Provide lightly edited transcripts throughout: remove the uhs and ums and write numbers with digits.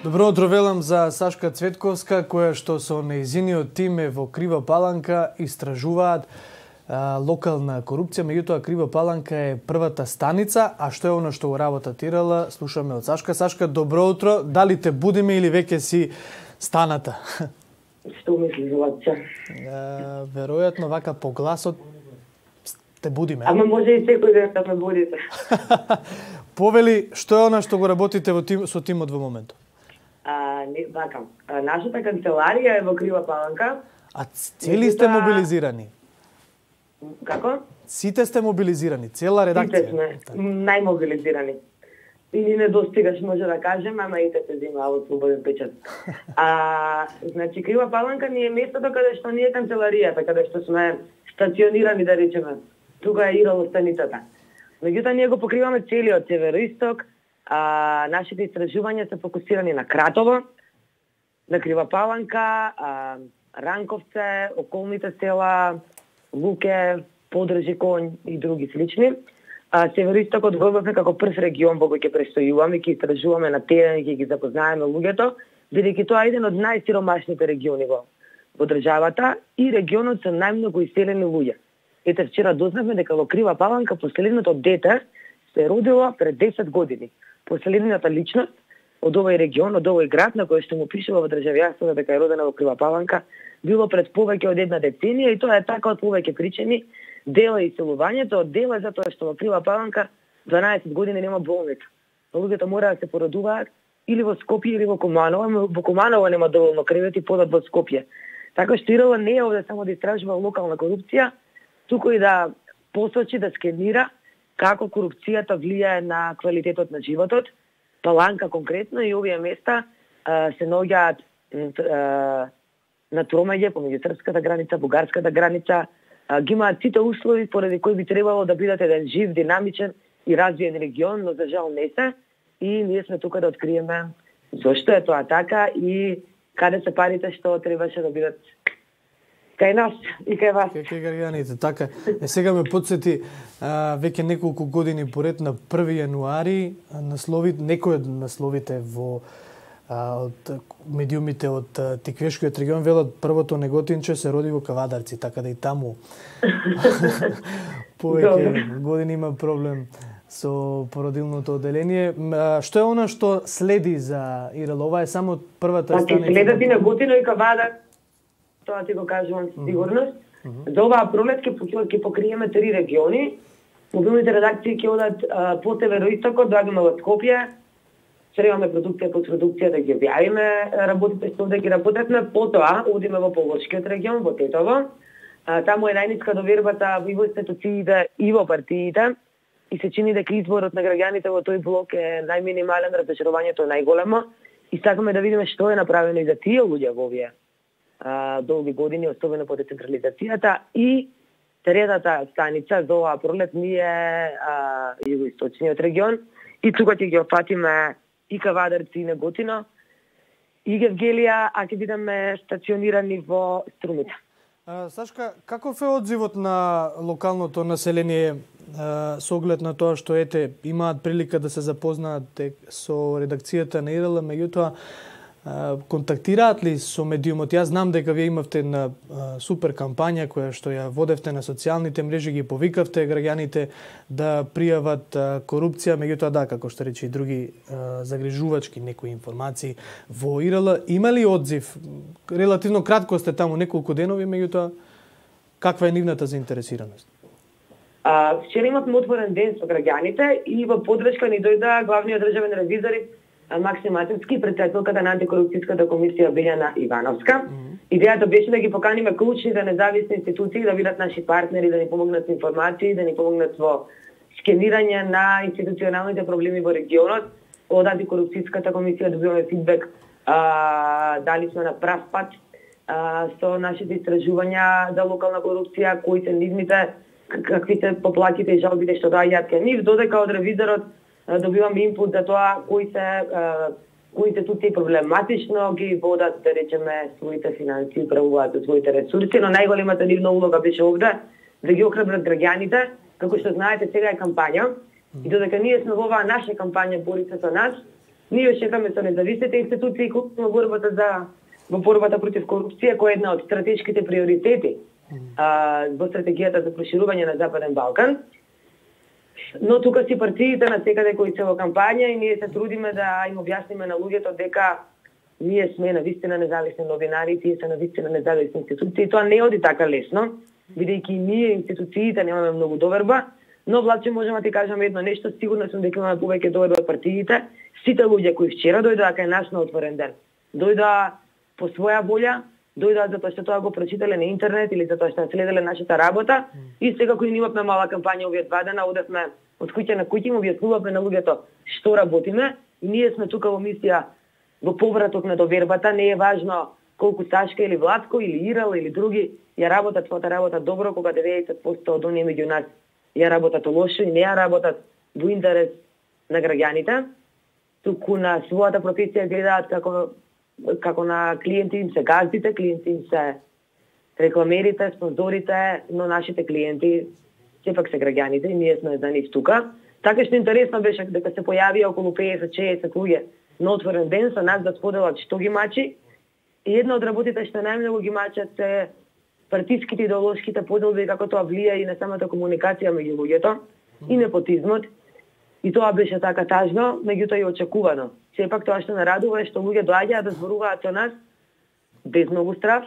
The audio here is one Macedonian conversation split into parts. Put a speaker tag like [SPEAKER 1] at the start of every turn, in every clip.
[SPEAKER 1] Добро утро велам за Сашка Цветковска, која што со нејзиниот тим е во Крива Паланка истражуваат локална корупција. Меѓутоа, Крива Паланка е првата станица, а што е оно што го работатирала, слушаме од Сашка. Сашка, добро утро. Дали те будиме или веќе си станата?
[SPEAKER 2] Што мислиш, Лача?
[SPEAKER 1] Веројатно, вака по гласот те будиме.
[SPEAKER 2] Ама може и секој ден да ме будите.
[SPEAKER 1] Повели, што е она што го работите со тимот во моментот?
[SPEAKER 2] Нашата канцеларија е во Крива Паланка.
[SPEAKER 1] А цели сте мобилизирани?
[SPEAKER 2] Како?
[SPEAKER 1] Сите сте мобилизирани, цела редакција?
[SPEAKER 2] Сите сме, најмобилизирани. И ни не достигаш, може да кажем, ама и те се зима од слободен печат. Значи, Крива Паланка ни е местото каде што ни е канцеларијата, каде што сме стационирани, да речеме. Тука е ИРЛ станицата. Меѓутоа, ние го покриваме целиот североисток. Нашите истражувања се фокусирани на Кратово, на Крива Паланка, Ранковце, околните села, Луке, Подржи, Конј и други слични. Североистокот го имаме како прв регион во кој ќе престојуваме, ќе истражуваме на терен, ќе ги запознаеме луѓето, бидејќи тоа е еден од најсиромашните региони во државата и регионот со најмногу иселени луѓе. Ете, вчера дознавме дека во Крива Паланка последното дете се родило пред 10 години. Последната личност од овој регион, од овој град, на кој што му пишува во државјанството дека е родена во Крива Паланка, било пред повеќе од една деценија и тоа е така од повеќе причини. Дел е иселувањето, дел е затоа што во Крива Паланка 12 години нема болница. Луѓето мора да се породуваат или во Скопје или во Куманово, во Куманово нема доволно кревети, подат во Скопје. Така што ИРЛ не е овде само да истражува локална корупција, туку и да посочи, да скенира како корупцијата влијае на квалитетот на животот. Паланка конкретно и овие места се наоѓаат на тромеѓе помеѓу српската граница, бугарската граница, ги имаат сите услови поради кои би требало да бидат еден жив, динамичен и развиен регион, но за жал не се. И ние сме тука да откриеме зошто е тоа така и каде се парите што требаше да бидат кај нас и кај вас.
[SPEAKER 1] Кај граѓаните, така. Сега ме подсети веќе неколку години поред на 1 јануари некои од насловите во од медиумите од Тиквешкиот регион велат првото неготинче се роди во Кавадарци, така да и таму повеќе години има проблем со породилното оделение. Што е она што следи за ИРЛ? Ова е само првата станица.
[SPEAKER 2] Следат и Неготино и Кавадар. Тоа ти го кажувам со сигурност. За оваа пролет ќе покриеме 3 региони. Мобилните редакции ќе одат по североистокот, доаѓаме во Скопје. Требаме продукција по продукција да ги објавиме работите што овде ги работевме. Потоа одиме во Полошкиот регион, во Тетово. Таму е најниска довербата и во институциите и во партиите. И се чини дека изборот на граѓаните во тој блок е најминимален, разочарувањето е најголемо. И сакаме да видиме што е направено и за тие луѓе во овие долги години, особено по децентрализацијата. И третата станица за оваа пролет ни е југоисточниот регион. И тука ќе ги опфатиме и Кавадарци, и Неготино, и Гевгелија, а ќе бидеме стационирани во Струмица.
[SPEAKER 1] Сашка, каков е одзивот на локалното население со оглед на тоа што имаат прилика да се запознаат со редакцијата на ИРЛ, меѓутоа контактираат ли со медиумот? Јас знам дека вие имавте на супер кампања која што ја водевте на социјалните мрежи, ги повикавте граѓаните да пријават корупција, меѓутоа да, како што рече и други загрижувачки некои информации во ИРЛ. Има ли одзив? Релативно кратко сте таму, неколку денови, меѓутоа каква е нивната заинтересираност?
[SPEAKER 2] Вчера имавме отворен ден со граѓаните и во подршка ни дојда главниот државен ревизор Максим Атевски, претседателката на антикорупцијската комисија Билјана Ивановска. Идејата беше да ги поканиме клучните независни институции да бидат наши партнери, да ни помогнат со информации, да ни помогнат во скенирање на институционалните проблеми во регионот. Од антикорупцијската комисија добиваме фидбек дали сме на прав пат со нашите истражувања за локална корупција, кои се нивните, какви се поплаките и жалбите што доаѓаат кај нив, додека од ревизорот добиваме инпут за тоа кои институции проблематично ги водат, да речеме, своите финансии, управуваат своите ресурси, но најголемата нивна улога беше овде да ги охрабрат граѓаните, како што знаете сега е кампања и додека ние сме во оваа наша кампања Бори се со нас, Ние шетаме со независните институции во борбата против корупција, која е една од стратешките приоритети во стратегијата за проширување на Западен Балкан. Но тука си партиите на секаде кои се во кампања и ние се трудиме да им објасниме на луѓето дека ние сме навистина независни новинари, тие се навистина независни институции. Тоа не оди така лесно, бидејќи ние институциите немаме многу доверба, но Владче можеме да ти кажам едно нешто, сигурно сум дека имаме повеќе доверба од партиите. Сите луѓе кои вчера дојдоа кај нас на отворен ден, дојдоа по своја волја, дојдоа затоа што тоа го прочитале на интернет или затоа што следеле нашата работа и сега кои имавме мала кампања овие 2 дена, одевме од куќа на куќа, им објаснувавме на луѓето што работиме и ние сме тука во мисија во повраток на довербата. Не е важно колку Сашка или Владко или Ирал или други ја работат својата работа добро, кога 90% од оние меѓу нас ја работат лошо и не ја работат во интерес на граѓаните, туку на својата професија гледаат како на клиенти им се газдите, клиенти им се рекламерите, спонзорите, но нашите клиенти сепак се граѓаните и ние сме за нив тука. Така што интересно беше дека се појавија околу 50-60 луѓе на отворен ден со нас да споделат што ги мачи. И една од работите што најмногу ги мачат се партиските идеолошките поделби, како тоа влија и на самата комуникација меѓу луѓето и непотизмот. И тоа беше така тажно, меѓутоа и очекувано. Сепак тоа што нарадува е што луѓе доаѓаат да зборуваат со нас без многу страв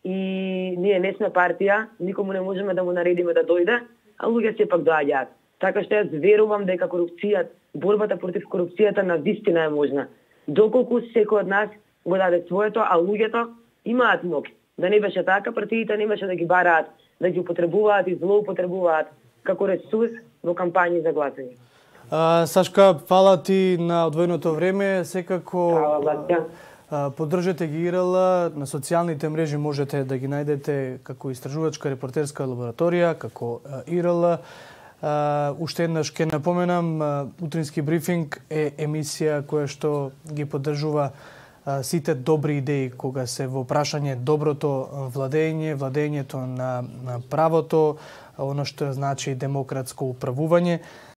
[SPEAKER 2] и ние не сме партија, никому не можеме да му наредиме да дојде, а луѓе сепак доаѓаат. Така што јас верувам дека корупцијата, борбата против корупцијата навистина е можна. Доколку секој од нас го даде своето, а луѓето имаат мок. Да не беше така, партиите не беше да ги бараат, да ги употребуваат и злоупотребуваат како ресурс во кампањи за гласање.
[SPEAKER 1] Сашка, фала ти на одвоеното време. Секако поддржете ги ИРЛ на социјалните мрежи, можете да ги најдете како истражувачка репортерска лабораторија, како ИРЛ. Уште еднаш ќе напоменам, утрински брифинг е емисија која што ги поддржува сите добри идеи кога се во прашање доброто владење, владењето на правото, оно што значи демократско управување.